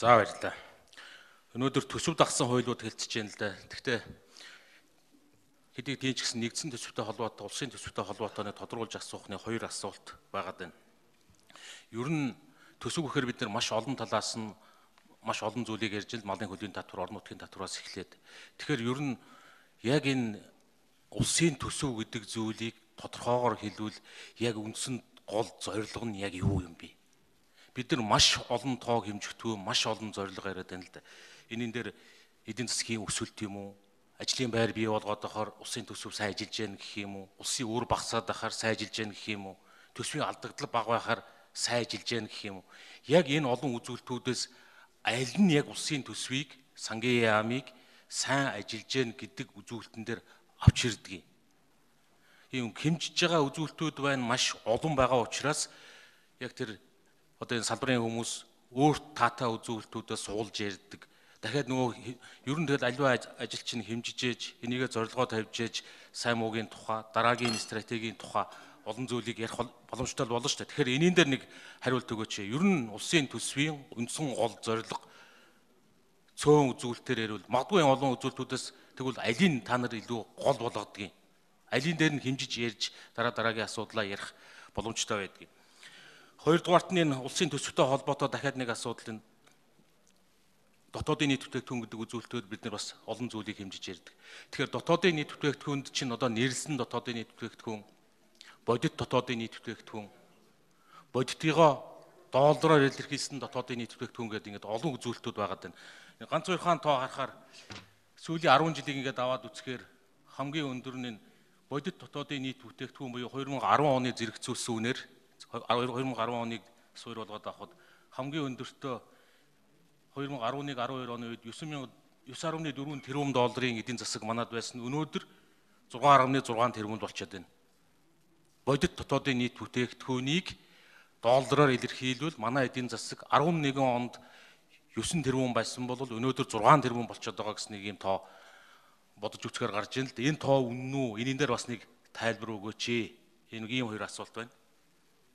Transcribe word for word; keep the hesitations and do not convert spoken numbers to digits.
За баярлалаа. Өнөөдөр төсөв дагсан хуулиуд хэлцэж байна л да. Гэхдээ хэдий тийм ч гэсэн нэгдсэн төсөвтэй холбоотой, улсын төсөвтэй холбоотой тодруулж асуухны хоёр асуулт байгаад байна. Ер нь төсөв гэхээр бид нар маш олон талаас нь маш олон зүйлийг ярьж ил малын хөлийн татвар, орон нутгийн татвараас эхлээд. Тэгэхээр ер нь яг энэ улсын төсөв гэдэг зүйлийг тодорхойгоор хэлвэл яг үндсэнд гол зорилго нь яг юу юм бэ? Бид нар маш олон тоог хэмжигдэх, маш олон зорилго яриад байна л да. Энийн дээр эдийн засгийн өсөлт юм уу? Ажлын байр бий болгоод байхаар улсын төсөв сайн ажиллаж яах гэх юм уу? Улсын үр багасаад байхаар сайн ажиллаж яах гэх юм уу? Төсвийн алдагдал бага байхаар сайн ажиллаж яах гэх юм уу? Яг энэ олон үзүүлэлтүүдээс аль нь яг улсын төсвийг, сангийн яамыг сайн ажиллаж яах гэдэг үзүүлэлтэн дээр авч ирдэг юм. Ийм хэмжиж байгаа үзүүлэлтүүд байна, маш олон байгаа учраас яг тэр одоо энэ салбарын хүмүүс өөрт таатай үзүүлэлтүүдээ суулж ярьдаг. Дахиад нөгөө ер нь тэгэл аливаа ажил чинь хэмжиж ээж, энийгээ зорилгоо тавьж ээж, сайн муугийн тухай, дараагийн стратегийн тухай олон зүйлийг ярих боломжтой болно шүү дээ. Тэгэхээр энийн дээр нэг хариулт өгөөч. Ер нь улсын төсвийн үндсэн гол зорилго цөөн үзүүлэлтээр ярил магадгүй олон үзүүлэлтүүдээс тэгвэл алийг та нар илүү гол болгодгийг, алийг дээр нь хэмжиж ярьж дараа дараагийн асуудлаа ярих боломжтой байдгийг. Хоёрдугаарт нь энэ улсын төсөвтэй холбоотой дахиад нэг асуудал энэ дотоодын нийт бүтээгдэхүүн гэдэг үзүүлэлтүүд бид нар бас олон зүйлийг хэмжиж ярьдаг. Тэгэхээр дотоодын нийт бүтээгдэхүүнд чинь одоо нэрлсэн дотоодын нийт бүтээгдэхүүн, бодит дотоодын нийт бүтээгдэхүүн, бодитыгоо доллараар илэрхийлсэн дотоодын нийт бүтээгдэхүүн гэдэг ингээд олон үзүүлэлтүүд байгаад байна. Ганц хоёр хаан тоо харахаар сүүлийн арван жилийг ингээд аваад үзэхээр хамгийн өндөр нь бодит дотоодын нийт бүтээгдэхүүн буюу хоёр мың и арван оны зэрэгцүүлсэн үнээр хоёр мың и арван оныг суурь болгоод авахад хамгийн өндөртөө хоёр мың и арван нэг арван хоёр оны үед девять нугсан дөрвөн тэрбум долларын эдийн засаг манад байсан. Өнөөдөр зургаан нугсан зургаан тэрбум болчиход байна. Бодит дотоодын нийт бүтээгдэхүүнийг доллараар илэрхийлвэл манай эдийн засаг арван нэгэн онд девять тэрбум байсан бол өнөөдөр зургаан тэрбум болчиход байгаа гэсэн нэг юм тоо бодож үзэхээр гарч ийн л да. Энэ тоо үнэн үү? Энийн дээр бас нэг тайлбар өгөөч ээ. Энэ ийм хоёр асуулт байна.